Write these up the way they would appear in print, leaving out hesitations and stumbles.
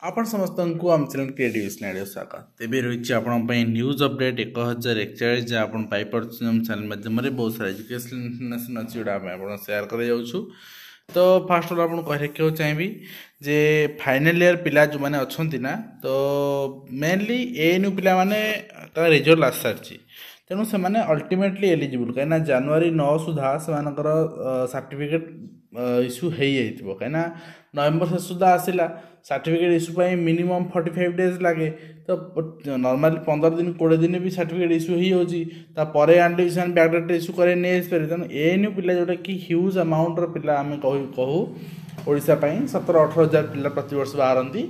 ଆପଣ ସମସ୍ତଙ୍କୁ ଆମ ଚ୍ୟାନେଲ୍ କ୍ରିଏଟିଭ୍ ସ୍ନାଇଡର ସ୍ୱାଗତ। ତେବେ ରହିଛି ଆପଣଙ୍କ ପାଇଁ ନ୍ୟୁଜ୍ ଅପଡେଟ୍ 1041, ଯାହା ଆପଣ ପାଇପାରୁଛନ୍ତି ଆମ ଚ୍ୟାନେଲ୍ ମାଧ୍ୟମରେ। ବହୁତ ସାରା ଏଜୁକେସନ୍ ଇନଫର୍ମେସନ୍ ଅଛି, ଯେଉଁଟା ଆମେ ଆପଣ ସେୟାର କରାଯାଉଛୁ। ତ ଫାଷ୍ଟ ଅଫ୍ ଆପଣଙ୍କୁ କହି ରଖିବାକୁ ଚାହିଁବି ଯେ ଫାଇନାଲ୍ ଇୟର୍ ପିଲା ଯେଉଁମାନେ ଅଛନ୍ତି ନା, ତ ମେନଲି ଏଏନ୍ୟୁ ପିଲାମାନେ ତାଙ୍କ ରେଜଲ୍ଟ ଆସିସାରିଛି, ତେଣୁ ସେମାନେ ଅଲ୍ଟିମେଟଲି ଏଲିଜିବୁଲ୍, କାହିଁକିନା ଜାନୁଆରୀ 9 ସୁଦ୍ଧା ସେମାନଙ୍କର ସାର୍ଟିଫିକେଟ୍ ଇସ୍ୟୁ ହେଇଯାଇଥିବ। କାହିଁକିନା ନଭେମ୍ବର ଶେଷ ସୁଦ୍ଧା ଆସିଲା ସାର୍ଟିଫିକେଟ୍ ଇସ୍ୟୁ ପାଇଁ ମିନିମମ୍ 45 ଡେଜ୍ ଲାଗେ। ତ ନର୍ମାଲି 15 ଦିନ, 20 ଦିନ ବି ସାର୍ଟିଫିକେଟ୍ ଇସ୍ୟୁ ହେଇଯାଉଛି। ତାପରେ ଆଣିଲେ ବି ସେମାନେ ବ୍ୟାକଡେଟ୍ ଇସ୍ୟୁ କରି ନେଇ ଆସିପାରିବେ। ତେଣୁ ଏଏନ୍ୟୁ ପିଲା, ଯେଉଁଟାକି ହ୍ୟୁଜ୍ ଆମାଉଣ୍ଟର ପିଲା ଆମେ କହୁ, ଓଡ଼ିଶା ପାଇଁ 17-18 ହଜାର ପିଲା ପ୍ରତିବର୍ଷ ବାହାରନ୍ତି,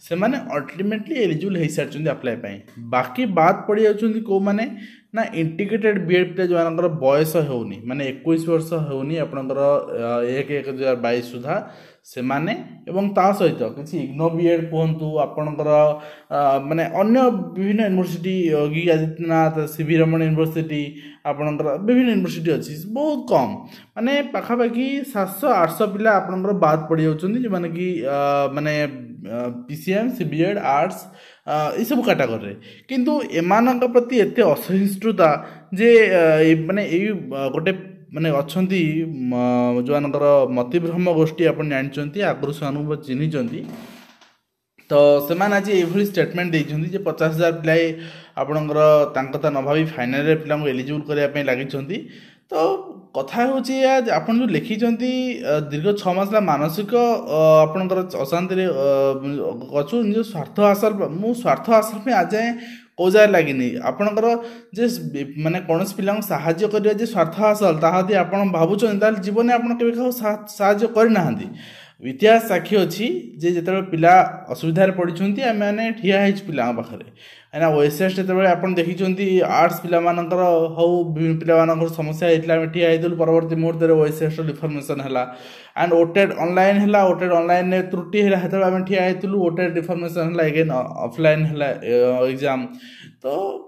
ସେମାନେ ଅଲ୍ଟିମେଟଲି ଏଲିଜିବୁଲ୍ ହେଇସାରିଛନ୍ତି ଆପ୍ଲାଏ ପାଇଁ। ବାକି ବାଦ ପଡ଼ିଯାଉଛନ୍ତି କେଉଁମାନେ ନା ଇଣ୍ଟିଗ୍ରେଟେଡ୍ ବି ଏଡ଼୍ ପିଲା, ଯେଉଁମାନଙ୍କର ବୟସ ହେଉନି, ମାନେ 21 ବର୍ଷ ହେଉନି ଆପଣଙ୍କର 1/1/2022 ସୁଦ୍ଧା ସେମାନେ, ଏବଂ ତା ସହିତ କିଛି ଇଗ୍ନୋ ବି ଏଡ଼୍ କୁହନ୍ତୁ ଆପଣଙ୍କର, ମାନେ ଅନ୍ୟ ବିଭିନ୍ନ university, Yogi Adityanath, C V Raman university, ଆପଣଙ୍କର ବିଭିନ୍ନ ୟୁନିଭର୍ସିଟି ଅଛି, ବହୁତ କମ୍, ମାନେ ପାଖାପାଖି 700-800 ପିଲା ଆପଣଙ୍କର ବାଦ ପଡ଼ିଯାଉଛନ୍ତି, ଯେଉଁମାନେ କି ମାନେ P C M, C B Ed, arts ଏସବୁ କାଟାଗୋରୀରେ। କିନ୍ତୁ ଏମାନଙ୍କ ପ୍ରତି ଏତେ ଅସହିଷ୍ଣୁତା ଯେ ମାନେ ଏଇ ଗୋଟେ ମାନେ ଅଛନ୍ତି ଯେଉଁମାନଙ୍କର ମତିଭ୍ରମ ଗୋଷ୍ଠୀ, ଆପଣ ଜାଣିଛନ୍ତି, ଆଗରୁ ସେମାନଙ୍କୁ ଚିହ୍ନିଛନ୍ତି। ତ ସେମାନେ ଆଜି ଏଇଭଳି ଷ୍ଟେଟମେଣ୍ଟ ଦେଇଛନ୍ତି ଯେ 50 ହଜାର ପିଲା ଆପଣଙ୍କର ତାଙ୍କ କଥା ନ ଭାବି ଫାଇନାଲରେ ପିଲାଙ୍କୁ ଏଲିଜିବୁଲ୍ କରିବା ପାଇଁ ଲାଗିଛନ୍ତି। ତ କଥା ହେଉଛି ଏଇଆ ଯେ ଆପଣ ଯେଉଁ ଲେଖିଛନ୍ତି, ଦୀର୍ଘ 6 ମାସ ହେଲା ମାନସିକ ଆପଣଙ୍କର ଅଶାନ୍ତିରେ ଅଛୁ, ନିଜ ସ୍ୱାର୍ଥ ହାସଲ, ମୁଁ ସ୍ୱାର୍ଥ ହାସଲ ପାଇଁ ଆଯାଏଁ କେଉଁ ଜାଗାରେ ଲାଗିନି। ଆପଣଙ୍କର ଯେ ମାନେ କୌଣସି ପିଲାଙ୍କୁ ସାହାଯ୍ୟ କରିବା ଯେ ସ୍ୱାର୍ଥ ହାସଲ, ତାହା ଯଦି ଆପଣ ଭାବୁଛନ୍ତି, ତାହେଲେ ଜୀବନରେ ଆପଣ କେବେ କାହାକୁ ସାହାଯ୍ୟ କରିନାହାନ୍ତି। ଇତିହାସ ସାକ୍ଷୀ ଅଛି ଯେ ଯେତେବେଳେ ପିଲା ଅସୁବିଧାରେ ପଡ଼ିଛନ୍ତି, ଆମେମାନେ ଠିଆ ହେଇଛୁ ପିଲାଙ୍କ ପାଖରେ। କାହିଁକିନା ଓଏସ୍ଏସ୍ ଯେତେବେଳେ ଆପଣ ଦେଖିଛନ୍ତି, ଆର୍ଟ୍ସ ପିଲାମାନଙ୍କର ହଉ, ବିଭିନ୍ନ ପିଲାମାନଙ୍କର ସମସ୍ୟା ହେଇଥିଲା, ଆମେ ଠିଆ ହେଇଥିଲୁ। ପରବର୍ତ୍ତୀ ମୁହୂର୍ତ୍ତରେ ଓଏସ୍ଏସ୍ର ରିଫର୍ମେସନ୍ ହେଲା ଆଣ୍ଡ ଓଟେଡ୍ ଅନଲାଇନ୍ ହେଲା। ଓଟେଡ୍ ଅନଲାଇନ୍ରେ ତ୍ରୁଟି ହେଲା, ସେତେବେଳେ ଆମେ ଠିଆ ହେଇଥିଲୁ। ଓଟେଡ୍ ରିଫର୍ମେସନ୍ ହେଲା, ଏଗେନ୍ ଅଫଲାଇନ୍ ହେଲା ଏକ୍ଜାମ୍। ତ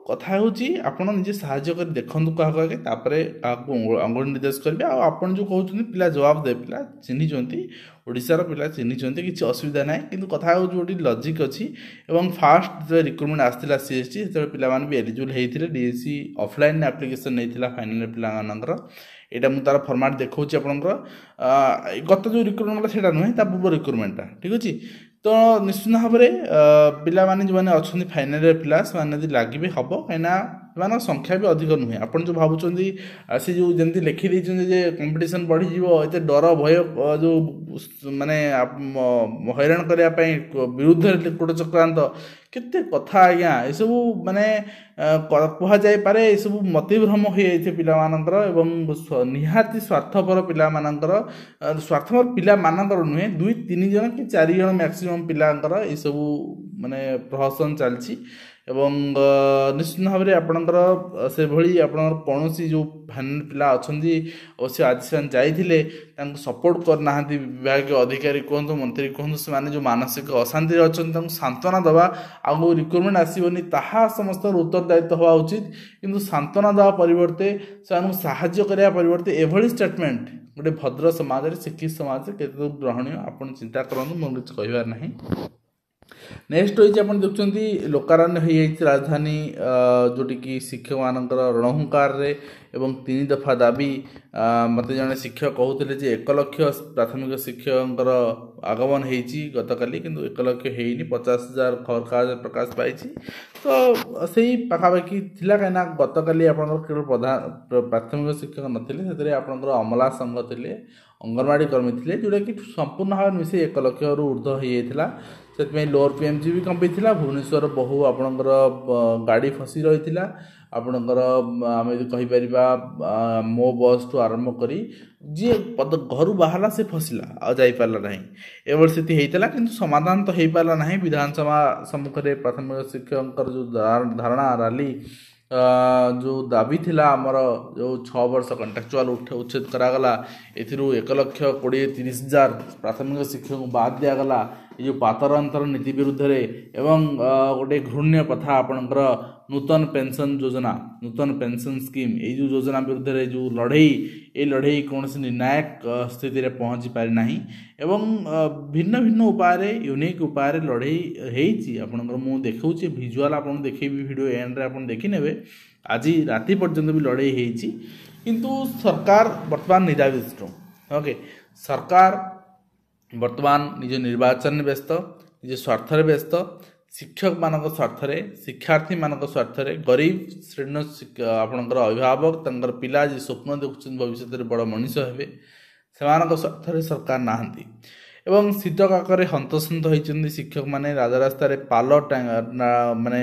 କଥା ହେଉଛି, ଆପଣ ନିଜେ ସାହାଯ୍ୟ କରି ଦେଖନ୍ତୁ କାହାକୁ ଆଗେ, ତାପରେ କାହାକୁ ଅଙ୍ଗୁଳି ନିର୍ଦ୍ଦେଶ କରିବେ। ଆଉ ଆପଣ ଯେଉଁ କହୁଛନ୍ତି ପିଲା ଜବାବ ଦେବେ, ପିଲା ଚିହ୍ନିଛନ୍ତି, ଓଡ଼ିଶାର ପିଲା ଚିହ୍ନିଛନ୍ତି, କିଛି ଅସୁବିଧା ନାହିଁ। କିନ୍ତୁ କଥା ହେଉଛି ଗୋଟେ ଲଜିକ୍ ଅଛି। ଏବଂ ଫାଷ୍ଟ ଯେତେବେଳେ ରିକ୍ରୁଟମେଣ୍ଟ ଆସିଥିଲା ସି ଏସ୍ ଟି, ସେତେବେଳେ ପିଲାମାନେ ବି ଏଲିଜିବୁଲ୍ ହେଇଥିଲେ। ଡିଏସଇ ଅଫଲାଇନ୍ ଆପ୍ଲିକେସନ୍ ନେଇଥିଲା ଫାଇନାଲ୍ ପିଲାମାନଙ୍କର। ଏଇଟା ମୁଁ ତା'ର ଫର୍ମାଟ୍ ଦେଖାଉଛି ଆପଣଙ୍କର। ଗତ ଯେଉଁ ରିକ୍ରୁଟମେଣ୍ଟ ହେଲା ସେଇଟା ନୁହେଁ, ତା ପୂର୍ବ ରିକ୍ରୁଟମେଣ୍ଟଟା, ଠିକ୍ ଅଛି। ତ ନିଶ୍ଚିତ ଭାବରେ ପିଲାମାନେ ଯେଉଁମାନେ ଅଛନ୍ତି ଫାଇନାଲ୍ ପିଲା, ସେମାନେ ଯଦି ଲାଗିବେ ହେବ, କାହିଁକିନା ସେମାନଙ୍କ ସଂଖ୍ୟା ବି ଅଧିକ ନୁହେଁ। ଆପଣ ଯେଉଁ ଭାବୁଛନ୍ତି, ସେ ଯେଉଁ ଯେମିତି ଲେଖିଦେଇଛନ୍ତି ଯେ କମ୍ପିଟିସନ୍ ବଢ଼ିଯିବ, ଏତେ ଡର ଭୟ ଯେଉଁ ମାନେ ହଇରାଣ କରିବା ପାଇଁ ବିରୁଦ୍ଧରେ କୂଟ ଚକ୍ରାନ୍ତ, କେତେ କଥା ଆଜ୍ଞା ଏସବୁ ମାନେ କୁହାଯାଇପାରେ। ଏସବୁ ମତିଭ୍ରମ ହୋଇଯାଇଛି ପିଲାମାନଙ୍କର ଏବଂ ନିହାତି ସ୍ୱାର୍ଥପର ପିଲାମାନଙ୍କର, ସ୍ୱାର୍ଥପର ପିଲାମାନଙ୍କର ନୁହେଁ, 2-3 ଜଣ କି 4 ଜଣ ମ୍ୟାକ୍ସିମମ୍ ପିଲାଙ୍କର ଏସବୁ ମାନେ ପ୍ରହସନ ଚାଲିଛି। ଏବଂ ନିଶ୍ଚିତ ଭାବରେ ଆପଣଙ୍କର ସେଭଳି ଆପଣଙ୍କର କୌଣସି ଯେଉଁ ଫାଇନାଲ୍ ପିଲା ଅଛନ୍ତି, ଅବଶ୍ୟ ଆଜି ସେମାନେ ଯାଇଥିଲେ, ତାଙ୍କୁ ସପୋର୍ଟ କରିନାହାନ୍ତି ବିଭାଗୀୟ ଅଧିକାରୀ କୁହନ୍ତୁ, ମନ୍ତ୍ରୀ କୁହନ୍ତୁ। ସେମାନେ ଯେଉଁ ମାନସିକ ଅଶାନ୍ତିରେ ଅଛନ୍ତି, ତାଙ୍କୁ ସାନ୍ତ୍ୱନା ଦେବା ଆଉ ରିକ୍ରୁଟମେଣ୍ଟ ଆସିବନି ତାହା ସମସ୍ତଙ୍କର ଉତ୍ତରଦାୟିତ୍ୱ ହେବା ଉଚିତ। କିନ୍ତୁ ସାନ୍ତ୍ୱନା ଦେବା ପରିବର୍ତ୍ତେ, ସେମାନଙ୍କୁ ସାହାଯ୍ୟ କରିବା ପରିବର୍ତ୍ତେ ଏଭଳି ଷ୍ଟେଟମେଣ୍ଟ ଗୋଟେ ଭଦ୍ର ସମାଜରେ, ଶିକ୍ଷିତ ସମାଜରେ କେତେ ଗ୍ରହଣୀୟ, ଆପଣ ଚିନ୍ତା କରନ୍ତୁ। ମୋର କିଛି କହିବାର ନାହିଁ। ନେକ୍ସଟ ରହିଛି, ଆପଣ ଦେଖୁଛନ୍ତି ଲୋକାରଣ୍ୟ ହୋଇଯାଇଛି ରାଜଧାନୀ, ଯେଉଁଠିକି ଶିକ୍ଷକମାନଙ୍କର ରଣହୁଙ୍କାରରେ ଏବଂ 3 ଦଫା ଦାବି। ମୋତେ ଜଣେ ଶିକ୍ଷକ କହୁଥିଲେ ଯେ 1 ଲକ୍ଷ ପ୍ରାଥମିକ ଶିକ୍ଷକଙ୍କର ଆଗମନ ହେଇଛି ଗତକାଲି, କିନ୍ତୁ 1 ଲକ୍ଷ ହେଇନି, 50 ହଜାର ଖବରକାଗଜ ପ୍ରକାଶ ପାଇଛି। ତ ସେଇ ପାଖାପାଖି ଥିଲା, କାହିଁକିନା ଗତକାଲି ଆପଣଙ୍କର କେବଳ ପ୍ରଧାନ ପ୍ରାଥମିକ ଶିକ୍ଷକ ନଥିଲେ, ସେଥିରେ ଆପଣଙ୍କର ଅମଲା ସଂଘ ଥିଲେ, ଅଙ୍ଗନବାଡ଼ି କର୍ମୀ ଥିଲେ, ଯେଉଁଟାକି ସମ୍ପୂର୍ଣ୍ଣ ଭାବେ ମିଶି 1 ଲକ୍ଷରୁ ଉର୍ଦ୍ଧ୍ୱ ହୋଇଯାଇଥିଲା। ସେଥିପାଇଁ ଲୋଅର ପିଏମ୍ଜି ବି କମ୍ପିଥିଲା। ଭୁବନେଶ୍ୱର ବହୁ ଆପଣଙ୍କର ଗାଡ଼ି ଫସି ରହିଥିଲା। ଆପଣଙ୍କର ଆମେ ଯଦି କହିପାରିବା, ମୋ ବସ୍ଠୁ ଆରମ୍ଭ କରି ଯିଏ ଘରୁ ବାହାରିଲା ସେ ଫସିଲା, ଆଉ ଯାଇପାରିଲା ନାହିଁ। ଏଭଳି ସ୍ଥିତି ହେଇଥିଲା, କିନ୍ତୁ ସମାଧାନ ତ ହେଇପାରିଲା ନାହିଁ। ବିଧାନସଭା ସମ୍ମୁଖରେ ପ୍ରାଥମିକ ଶିକ୍ଷକଙ୍କର ଯେଉଁ ଧାରଣା ରାଲି, ଯେଉଁ ଦାବି ଥିଲା ଆମର, ଯେଉଁ 6 ବର୍ଷ କଣ୍ଟ୍ରାକ୍ଚୁଆଲ୍ ଉଚ୍ଛେଦ କରାଗଲା, ଏଥିରୁ 1 ଲକ୍ଷ 20-30 ହଜାର ପ୍ରାଥମିକ ଶିକ୍ଷକଙ୍କୁ ବାଦ ଦିଆଗଲା। ଏ ଯେଉଁ ପାତର ଅନ୍ତର ନୀତି ବିରୁଦ୍ଧରେ ଏବଂ ଗୋଟେ ଘୃଣ୍ୟ ପ୍ରଥା ଆପଣଙ୍କର ନୂତନ ପେନ୍ସନ୍ ଯୋଜନା, ନୂତନ ପେନ୍ସନ୍ ସ୍କିମ୍, ଏଇ ଯେଉଁ ଯୋଜନା ବିରୁଦ୍ଧରେ ଯେଉଁ ଲଢ଼େଇ, ଏ ଲଢ଼େଇ କୌଣସି ନିର୍ଣ୍ଣାୟକ ସ୍ଥିତିରେ ପହଞ୍ଚି ପାରିନାହିଁ ଏବଂ ଭିନ୍ନ ଭିନ୍ନ ଉପାୟରେ, ୟୁନିକ୍ ଉପାୟରେ ଲଢ଼େଇ ହେଇଛି ଆପଣଙ୍କର। ମୁଁ ଦେଖାଉଛି ଭିଜୁଆଲ୍, ଆପଣଙ୍କୁ ଦେଖେଇବି, ଭିଡ଼ିଓ ଏଣ୍ଡରେ ଆପଣ ଦେଖିନେବେ। ଆଜି ରାତି ପର୍ଯ୍ୟନ୍ତ ବି ଲଢ଼େଇ ହେଇଛି, କିନ୍ତୁ ସରକାର ବର୍ତ୍ତମାନ ନିଦାବିଷ୍ଣୁ। ଓକେ, ସରକାର ବର୍ତ୍ତମାନ ନିଜ ନିର୍ବାଚନରେ ବ୍ୟସ୍ତ, ନିଜ ସ୍ୱାର୍ଥରେ ବ୍ୟସ୍ତ। ଶିକ୍ଷକମାନଙ୍କ ସ୍ୱାର୍ଥରେ, ଶିକ୍ଷାର୍ଥୀମାନଙ୍କ ସ୍ୱାର୍ଥରେ, ଗରିବ ଶ୍ରେଣୀର ଆପଣଙ୍କର ଅଭିଭାବକ, ତାଙ୍କର ପିଲା ଯିଏ ସ୍ୱପ୍ନ ଦେଖୁଛନ୍ତି ଭବିଷ୍ୟତରେ ବଡ଼ ମଣିଷ ହେବେ, ସେମାନଙ୍କ ସ୍ୱାର୍ଥରେ ସରକାର ନାହାନ୍ତି। ଏବଂ ଶୀତ କାକରେ ହନ୍ତସନ୍ତ ହୋଇଛନ୍ତି ଶିକ୍ଷକମାନେ। ରାଜରାସ୍ତାରେ ପାଲ ମାନେ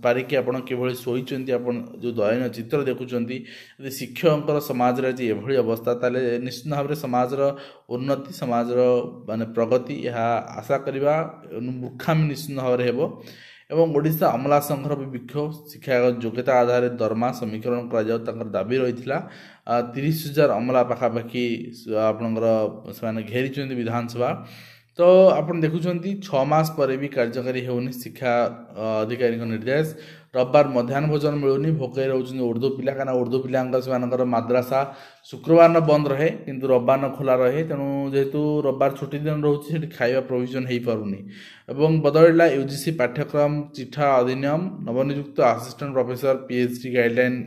ପାରିକି ଆପଣ କିଭଳି ଶୋଇଛନ୍ତି, ଆପଣ ଯେଉଁ ଦୟନୀୟ ଚିତ୍ର ଦେଖୁଛନ୍ତି। ଯଦି ଶିକ୍ଷକଙ୍କର ସମାଜରେ ଆଜି ଏଭଳି ଅବସ୍ଥା, ତାହେଲେ ନିଶ୍ଚିତ ଭାବରେ ସମାଜର ଉନ୍ନତି, ସମାଜର ମାନେ ପ୍ରଗତି, ଏହା ଆଶା କରିବା ମୂର୍ଖାମି ନିଶ୍ଚିତ ଭାବରେ ହେବ। ଏବଂ ଓଡ଼ିଶା ଅମଲା ସଂଘର ବି ବିକ୍ଷୋଭ। ଶିକ୍ଷାଗତ ଯୋଗ୍ୟତା ଆଧାରରେ ଦରମା ସମୀକରଣ କରାଯାଉ, ତାଙ୍କର ଦାବି ରହିଥିଲା। 30,000 ଅମଲା ପାଖାପାଖି ଆପଣଙ୍କର ସେମାନେ ଘେରିଛନ୍ତି ବିଧାନସଭା। ତ ଆପଣ ଦେଖୁଛନ୍ତି, 6 ମାସ ପରେ ବି କାର୍ଯ୍ୟକାରୀ ହେଉନି ଶିକ୍ଷା ଅଧିକାରୀଙ୍କ ନିର୍ଦ୍ଦେଶ। ରବିବାର ମଧ୍ୟାହ୍ନ ଭୋଜନ ମିଳୁନି, ଭୋକରେ ରହୁଛନ୍ତି ଉର୍ଦ୍ଦୁ ପିଲା। କାହିଁକିନା ଉର୍ଦ୍ଦୁ ପିଲାଙ୍କ ସେମାନଙ୍କର ମାଦ୍ରାସା ଶୁକ୍ରବାର ବନ୍ଦ ରହେ, କିନ୍ତୁ ରବିବାର ଖୋଲା ରହେ। ତେଣୁ ଯେହେତୁ ରବିବାର ଛୁଟି ଦିନ ରହୁଛି, ସେଠି ଖାଇବା ପ୍ରୋଭିଜନ୍ ହେଇପାରୁନି। ଏବଂ ବଦଳିଲା ୟୁଜିସି ପାଠ୍ୟକ୍ରମ ଚିଠା ଅଧିନିୟମ। ନବନିଯୁକ୍ତ assistant professor PhD guideline,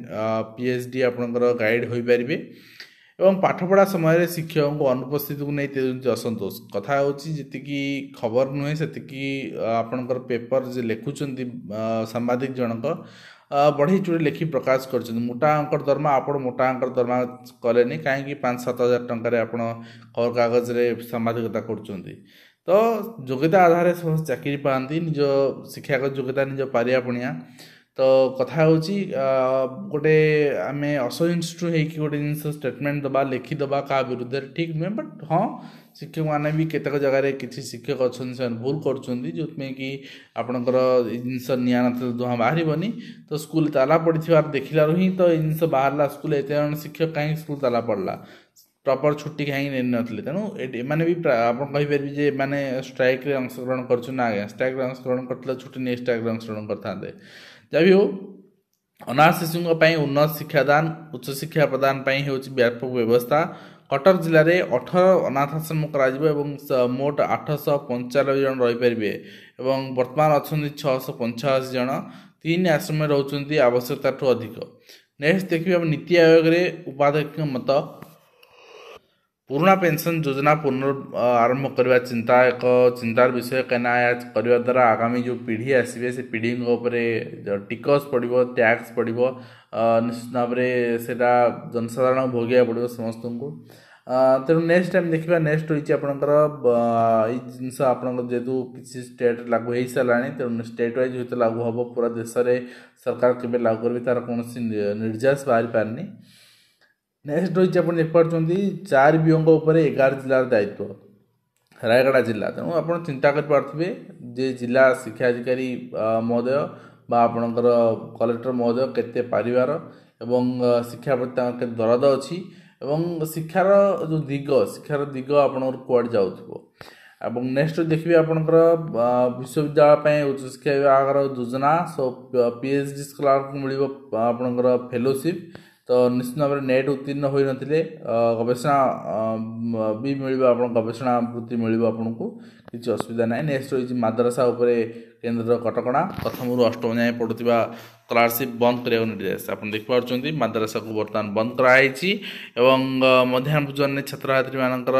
PhD ଆପଣଙ୍କର ଗାଇଡ଼ ହୋଇପାରିବେ। ଏବଂ ପାଠପଢ଼ା ସମୟରେ ଶିକ୍ଷକଙ୍କୁ ଅନୁପସ୍ଥିତିକୁ ନେଇ ତେଜୁଛି ଅସନ୍ତୋଷ। କଥା ହେଉଛି, ଯେତିକି ଖବର ନୁହେଁ ସେତିକି ଆପଣଙ୍କର ପେପର ଯେ ଲେଖୁଛନ୍ତି ସାମ୍ବାଦିକ ଜଣକ ବଢ଼େଇ ଚୁଡ଼ି ଲେଖି ପ୍ରକାଶ କରିଛନ୍ତି। ମୋଟା ଅଙ୍କର ଦରମା, ଆପଣ ମୋଟା ଅଙ୍କର ଦରମା କଲେନି କାହିଁକି? 5-7 ହଜାର ଟଙ୍କାରେ ଆପଣ ଖବରକାଗଜରେ ସାମ୍ବାଦିକତା କରୁଛନ୍ତି। ତ ଯୋଗ୍ୟତା ଆଧାରରେ ସମସ୍ତେ ଚାକିରି ପାଆନ୍ତି, ନିଜ ଶିକ୍ଷାଗତ ଯୋଗ୍ୟତା, ନିଜ ପାରିବା ପଣିଆ। ତ କଥା ହେଉଛି, ଗୋଟେ ଆମେ ଅସହିଷ୍ଣୁ ହେଇକି ଗୋଟେ ଜିନିଷ ଷ୍ଟେଟମେଣ୍ଟ ଦେବା, ଲେଖିଦେବା କାହା ବିରୁଦ୍ଧରେ ଠିକ୍ ନୁହେଁ। ବଟ୍ ହଁ, ଶିକ୍ଷକମାନେ ବି କେତେକ ଜାଗାରେ କିଛି ଶିକ୍ଷକ ଅଛନ୍ତି, ସେମାନେ ଭୁଲ କରୁଛନ୍ତି, ଯେଉଁଥିପାଇଁ କି ଆପଣଙ୍କର ଏଇ ଜିନିଷ ନିଆଁ ନଥିଲେ ଧୂଆଁ ବାହାରିବନି। ତ ସ୍କୁଲ ତାଲା ପଡ଼ିଥିବାର ଦେଖିଲାରୁ ହିଁ ତ ଏଇ ଜିନିଷ ବାହାରିଲା। ସ୍କୁଲ ଏତେ ଜଣ ଶିକ୍ଷକ, କାହିଁକି ସ୍କୁଲ ତାଲା ପଡ଼ିଲା? ପ୍ରପର୍ ଛୁଟି କାହିଁକି ନେଇନଥିଲେ? ତେଣୁ ଏମାନେ ବି ଆପଣ କହିପାରିବେ ଯେ ଏମାନେ ଷ୍ଟ୍ରାଇକ୍ରେ ଅଂଶଗ୍ରହଣ କରୁଛନ୍ତି। ନା ଆଜ୍ଞା, ଷ୍ଟ୍ରାଇକ୍ରେ ଅଂଶଗ୍ରହଣ କରିଥିଲେ ଛୁଟି ନେଇ ଷ୍ଟ୍ରାଇକ୍ରେ ଅଂଶଗ୍ରହଣ କରିଥାନ୍ତେ। ଯାହା ବି ହଉ, ଅନାଥ ଶିଶୁଙ୍କ ପାଇଁ ଉନ୍ନତ ଶିକ୍ଷାଦାନ, ଉଚ୍ଚଶିକ୍ଷା ପ୍ରଦାନ ପାଇଁ ହେଉଛି ବ୍ୟାପକ ବ୍ୟବସ୍ଥା। କଟକ ଜିଲ୍ଲାରେ 18 ଅନାଥାଶ୍ରମ କରାଯିବ ଏବଂ ମୋଟ 895 ଜଣ ରହିପାରିବେ ଏବଂ ବର୍ତ୍ତମାନ ଅଛନ୍ତି 685 ଜଣ। ତିନି ଆଶ୍ରମରେ ରହୁଛନ୍ତି ଆବଶ୍ୟକତାଠୁ ଅଧିକ। ନେକ୍ସଟ ଦେଖିବେ ଆମେ, ନୀତି ଆୟୋଗରେ ଉପାଧ୍ୟକ୍ଷଙ୍କ ମତ। ପୁରୁଣା ପେନ୍ସନ୍ ଯୋଜନା ପୁନର୍ ଆରମ୍ଭ କରିବା ଚିନ୍ତା ଏକ ଚିନ୍ତାର ବିଷୟ। କାହିଁକିନା ଏହା କରିବା ଦ୍ୱାରା ଆଗାମୀ ଯେଉଁ ପିଢ଼ି ଆସିବେ, ସେ ପିଢ଼ିଙ୍କ ଉପରେ ଟିକସ ପଡ଼ିବ, ଟ୍ୟାକ୍ସ ପଡ଼ିବ। ନିଶ୍ଚିତ ଭାବରେ ସେଇଟା ଜନସାଧାରଣ ଭୋଗିବାକୁ ପଡ଼ିବ ସମସ୍ତଙ୍କୁ। ତେଣୁ ନେକ୍ସଟ ଆମେ ଦେଖିବା। ନେକ୍ସଟ ରହିଛି ଆପଣଙ୍କର ଏଇ ଜିନିଷ ଆପଣଙ୍କର ଯେହେତୁ କିଛି ଷ୍ଟେଟ୍ ଲାଗୁ ହେଇସାରିଲାଣି, ତେଣୁ ଷ୍ଟେଟ୍ ୱାଇଜ୍ ହୁଏତ ଲାଗୁ ହେବ। ପୁରା ଦେଶରେ ସରକାର କେବେ ଲାଗୁ କରିବେ, ତା'ର କୌଣସି ନିର୍ଦ୍ଦେଶ ବାହାରି ପାରିନି। ନେକ୍ସଟ ରହିଛି, ଆପଣ ଦେଖିପାରୁଛନ୍ତି, ଚାରି ବିଓଙ୍କ ଉପରେ 11 ଜିଲ୍ଲାର ଦାୟିତ୍ୱ, ରାୟଗଡ଼ା ଜିଲ୍ଲା। ତେଣୁ ଆପଣ ଚିନ୍ତା କରିପାରୁଥିବେ ଯେ ଜିଲ୍ଲା ଶିକ୍ଷା ଅଧିକାରୀ ମହୋଦୟ ବା ଆପଣଙ୍କର କଲେକ୍ଟର ମହୋଦୟ କେତେ ପାରିବାର ଏବଂ ଶିକ୍ଷା ପ୍ରତି ତାଙ୍କର କେତେ ଦରଦ ଅଛି ଏବଂ ଶିକ୍ଷାର ଯେଉଁ ଦିଗ, ଶିକ୍ଷାର ଦିଗ ଆପଣଙ୍କର କୁଆଡ଼େ ଯାଉଥିବ। ଏବଂ ନେକ୍ସଟ ଦେଖିବେ ଆପଣଙ୍କର ବିଶ୍ୱବିଦ୍ୟାଳୟ ପାଇଁ ଉଚ୍ଚଶିକ୍ଷା ବିଭାଗର ଯୋଜନା। ସୋ ପିଏଚ୍ ଡି ସ୍କଲାରକୁ ମିଳିବ ଆପଣଙ୍କର ଫେଲୋସିପ୍। ତ ନିଶ୍ଚିତ ଭାବରେ ନେଟ୍ ଉତ୍ତୀର୍ଣ୍ଣ ହୋଇନଥିଲେ ଗବେଷଣା ବି ମିଳିବ, ଆପଣ ଗବେଷଣା ବୃତ୍ତି ମିଳିବ ଆପଣଙ୍କୁ, କିଛି ଅସୁବିଧା ନାହିଁ। ନେକ୍ସଟ ରହିଛି ମାଦ୍ରାସା ଉପରେ କେନ୍ଦ୍ରର କଟକଣା। ପ୍ରଥମରୁ ଅଷ୍ଟମ ଯାଏଁ ପଢ଼ୁଥିବା ସ୍କଲାରସିପ୍ ବନ୍ଦ କରିବାକୁ ନିର୍ଦ୍ଦେଶ। ଆପଣ ଦେଖିପାରୁଛନ୍ତି, ମାଦ୍ରାସାକୁ ବର୍ତ୍ତମାନ ବନ୍ଦ କରାଯାଇଛି। ଏବଂ ମଧ୍ୟାହ୍ନ ଭୋଜନରେ ଛାତ୍ରଛାତ୍ରୀମାନଙ୍କର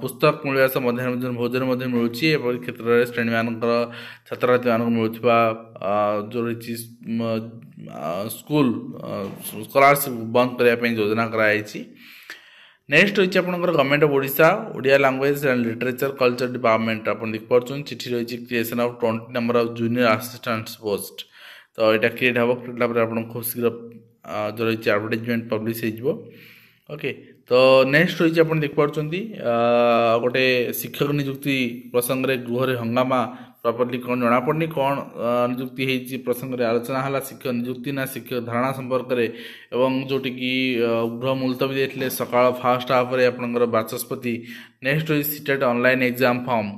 ପୁସ୍ତକ ମିଳିବା ସହ ମଧ୍ୟାହ୍ନ ଭୋଜନ ଭୋଜନ ମଧ୍ୟ ମିଳୁଛି। ଏପରି କ୍ଷେତ୍ରରେ ଶ୍ରେଣୀମାନଙ୍କର ଛାତ୍ରଛାତ୍ରୀମାନଙ୍କୁ ମିଳୁଥିବା ଯେଉଁ ରହିଛି ସ୍କୁଲ ସ୍କଲାରସିପ୍ ବନ୍ଦ କରିବା ପାଇଁ ଯୋଜନା କରାଯାଇଛି। ନେକ୍ସଟ ରହିଛି ଆପଣଙ୍କର Government of Odisha, Odia Language and Literature Culture Department। ଆପଣ ଦେଖିପାରୁଛନ୍ତି, ଚିଠି ରହିଛି creation of 20 number of junior assistant post। ତ ଏଇଟା କ୍ରିଏଟ୍ ହେବ, କ୍ରିଏଟ୍ ହେଲା ପରେ ଆପଣଙ୍କୁ ଖୁବ୍ ଶୀଘ୍ର ଯେଉଁ ରହିଛି ଆଡ଼ଭର୍ଟାଇଜମେଣ୍ଟ ପବ୍ଲିଶ ହେଇଯିବ। ଓକେ, ତ ନେକ୍ସଟ ରହିଛି, ଆପଣ ଦେଖିପାରୁଛନ୍ତି, ଗୋଟେ ଶିକ୍ଷକ ନିଯୁକ୍ତି ପ୍ରସଙ୍ଗରେ ଗୃହରେ ହଙ୍ଗାମା। ପ୍ରପରଲି କ'ଣ ଜଣାପଡ଼ୁନି, କ'ଣ ନିଯୁକ୍ତି ହେଇଛି ପ୍ରସଙ୍ଗରେ ଆଲୋଚନା ହେଲା, ଶିକ୍ଷକ ନିଯୁକ୍ତି ନା ଶିକ୍ଷକ ଧାରଣା ସମ୍ପର୍କରେ। ଏବଂ ଯେଉଁଠିକି ଗୃହ ମୁଲତବୀ ଦେଇଥିଲେ ସକାଳ ଫାଷ୍ଟ ହାଫରେ ଆପଣଙ୍କର ବାଚସ୍ପତି। ନେକ୍ସଟ ରହିଛି ସିଟେଟ୍ ଅନଲାଇନ୍ ଏକ୍ଜାମ୍ ଫର୍ମ।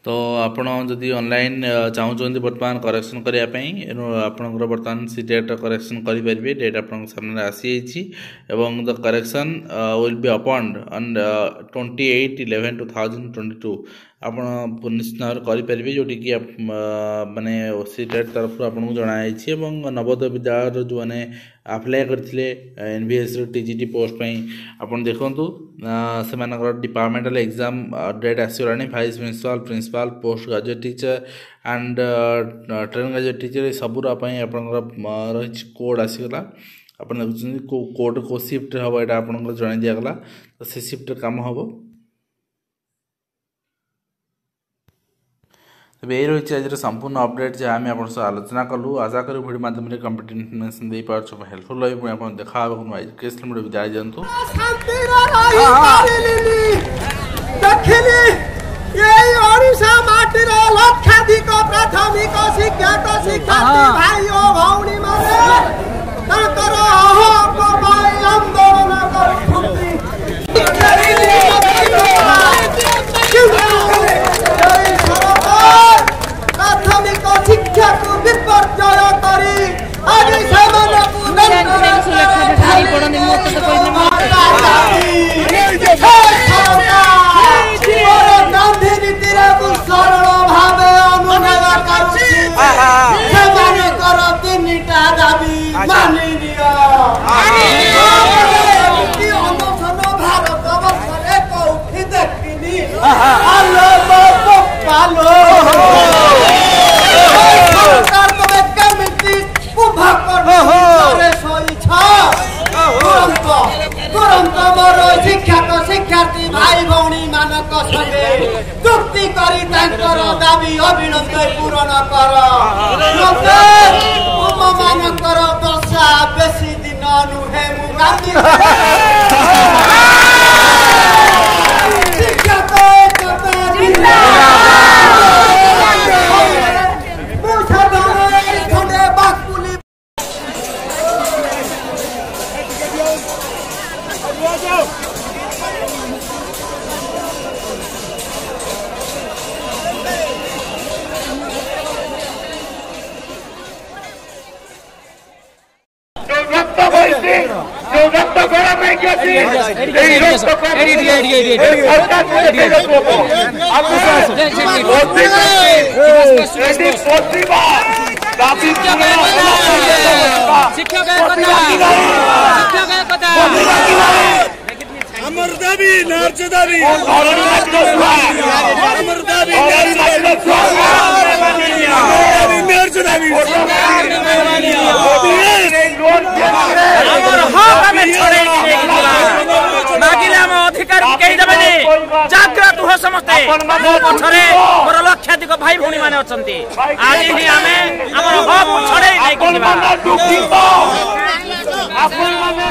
ତ ଆପଣ ଯଦି ଅନଲାଇନ୍ ଚାହୁଁଛନ୍ତି ବର୍ତ୍ତମାନ କରେକ୍ସନ୍ କରିବା ପାଇଁ, ଆପଣଙ୍କର ବର୍ତ୍ତମାନ ସେ ଡେଟ୍ କରେକ୍ସନ୍ କରିପାରିବେ। ଡେଟ୍ ଆପଣଙ୍କ ସାମ୍ନାରେ ଆସିଯାଇଛି ଏବଂ the correction will be opened on 28/11/2022। ଆପଣ ନିଶ୍ଚିତ ଭାବରେ କରିପାରିବେ, ଯେଉଁଠିକି ମାନେ ସି ଟେଟ୍ ତରଫରୁ ଆପଣଙ୍କୁ ଜଣାଯାଇଛି। ଏବଂ ନବୋଦୟ ବିଦ୍ୟାଳୟର ଯେଉଁମାନେ ଆପ୍ଲାଏ କରିଥିଲେ ଏନ୍ଭିଏସ୍ର ଟି ଜି ଟି ପୋଷ୍ଟ ପାଇଁ, ଆପଣ ଦେଖନ୍ତୁ, ସେମାନଙ୍କର ଡିପାର୍ଟମେଣ୍ଟାଲ ଏକ୍ଜାମ୍ ଡେଟ୍ ଆସିଗଲାଣି। Vice principal, principal, post graduate teacher and trained graduate teacher, ଏ ସବୁର ପାଇଁ ଆପଣଙ୍କର ରହିଛି କୋଡ଼୍ ଆସିଗଲା। ଆପଣ ଦେଖୁଛନ୍ତି କେଉଁ କୋଡ଼୍, କେଉଁ ସିଫ୍ଟରେ ହେବ, ଏଇଟା ଆପଣଙ୍କର ଜଣାଇ ଦିଆଗଲା। ତ ସେ ସିଫ୍ଟରେ କାମ ହେବ। ତେବେ ଏଇ ରହିଛି ଆଜିର ସମ୍ପୂର୍ଣ୍ଣ ଅପଡେଟ୍, ଯାହା ଆମେ ଆପଣଙ୍କ ସହ ଆଲୋଚନା କଲୁ। ଆଶା କରୁ ଭିଡ଼ିଓ ମାଧ୍ୟମରେ କମ୍ପ୍ଲିଟ୍ ଇନଫର୍ମେସନ୍ ଦେଇପାରୁଛୁ, ହେଲ୍ପଫୁଲ୍ ରହିବ। ପୁଣି ଆପଣ ଦେଖା ହେବ ନୂଆ ଏଜୁକେସନ୍ ଭିଡ଼ିଓ। ବିଦାୟ ଦିଅନ୍ତୁ। ଶାନ୍ତିରେ ରହିପାରିଲିନି। ଦେଖିଲି ଏଇ ଓଡ଼ିଶା ମାଟିର ଲକ୍ଷାଧିକ ପ୍ରାଥମିକ ଶିକ୍ଷକ ଶିକ୍ଷାର୍ଥୀ ଭାଇ ଓ ଭଉଣୀ ମାନେ ତାଙ୍କର ହକ ପାଇଁ ଆନ୍ଦୋଳନ କରୁଛନ୍ତି। କିନ୍ତୁ ଏଇ ସରକାର ପ୍ରାଥମିକ ଶିକ୍ଷାକୁ ବିପର୍ଯ୍ୟୟ କରି ଆଜି ସେମାନଙ୍କୁ ପଡ଼ନ୍ତି। ମୋତେ ତ କହିଲେ। ଗାନ୍ଧୀ ନୀତିରେ ମୁଁ ସରଳ ଭାବେ ଅନୁରୋଧ କରୁଛି, ସେମାନଙ୍କର ତିନିଟା ଦାବି ମାନି ନିଅ। ଏମିତି ଅନଶନ ଭାରତ ବର୍ଷରେ କୋଉଠି ଦେଖିନି। ଆଲୋ ମୋ ବୋପାଲୋ, ସରକାର, ତମେ କେମିତି କୁମ୍ଭକର୍ଣ୍ଣ ଶୋଇଛ? ତୁରନ୍ତ ତୁରନ୍ତ ମୋର ଶିକ୍ଷକ ଶିକ୍ଷାର୍ଥୀ ଭାଇ ଭଉଣୀ ମାନଙ୍କ ସଙ୍ଗେ ଚୁକ୍ତି କରି ତାଙ୍କର ଦାବି ଅବିଳମ୍ବେ ପୂରଣ କର। ତୁମ ମାନଙ୍କର ଦଶା ବେଶୀ ଦିନ ନୁହେଁ। ମୁଁ ଗାନ୍ଧୀ ଶିକ୍ଷକ ଏକତା ମୁଁ ସାଧନ ଖଣ୍ଡେ ବାକୁଲି। ଯୋଉ ରକ୍ତ ବହିଛି, ଯୋଉ ରକ୍ତ ଗରମ ହେଇକି ଅଛି, ଏଇ ରକ୍ତକୁ ଏଇ ସରକାର ଦେଖେଇବାକୁ ହବ। ଆମେ ଏଠି ବସିବା, ଦାବି ପୂରଣ ହେଲା ପର୍ଯ୍ୟନ୍ତ ବସିବା। ଶିକ୍ଷକ ବସିବା କି ନାହିଁ? ଶିକ୍ଷକ ଏକତା। ବସିବା କି ନାହିଁ? ଆମର ଦାବି ନ୍ୟାଯ୍ୟ ଦାବି। ଧରଣୀ ମାଟିର ଛୁଆ, ଆମର ଦାବି ଧରଣୀ ମାଟିର ଛୁଆ। ଦାବି ନ୍ୟାଯ୍ୟ ଦାବି। ଆମର ହକ୍ ଆମେ ଛଡ଼େଇକି ନେଇକି ଯିବା। ମାଗିଲେ ଆମ ଅଧିକାର କେହି ଦେବେନି। ଜାଗ୍ରତ ହୁଅ ସମସ୍ତେ। ମୋ ପଛରେ ମୋର ଲକ୍ଷାଧିକ ଭାଇ ଭଉଣୀ ମାନେ ଅଛନ୍ତି। ଆଜି ହିଁ ଆମେ ଆମର ହକ୍ ଛଡ଼େଇ ନେଇକି ଯିବା। ଆପଣମାନେ ଦୁଃଖିତ, ଆପଣମାନେ